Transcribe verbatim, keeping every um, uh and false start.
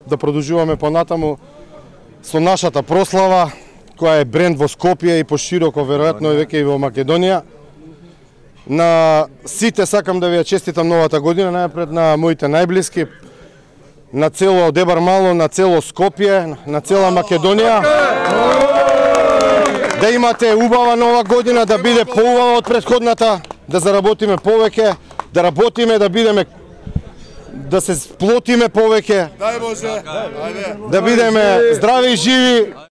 да продолжуваме понатаму со нашата прослава, која е бренд во Скопје и пошироко веројатно и веќе и во Македонија. На сите сакам да ви ја честитам новата година, најпред на моите најблиски, на цело Дебар Мало, на цело Скопје, на цела Македонија. Да имате убава нова година, да биде поубава од претходната, да заработиме повеќе, да работиме, да бидеме, да се сплотиме повеќе, да бидеме здрави и живи.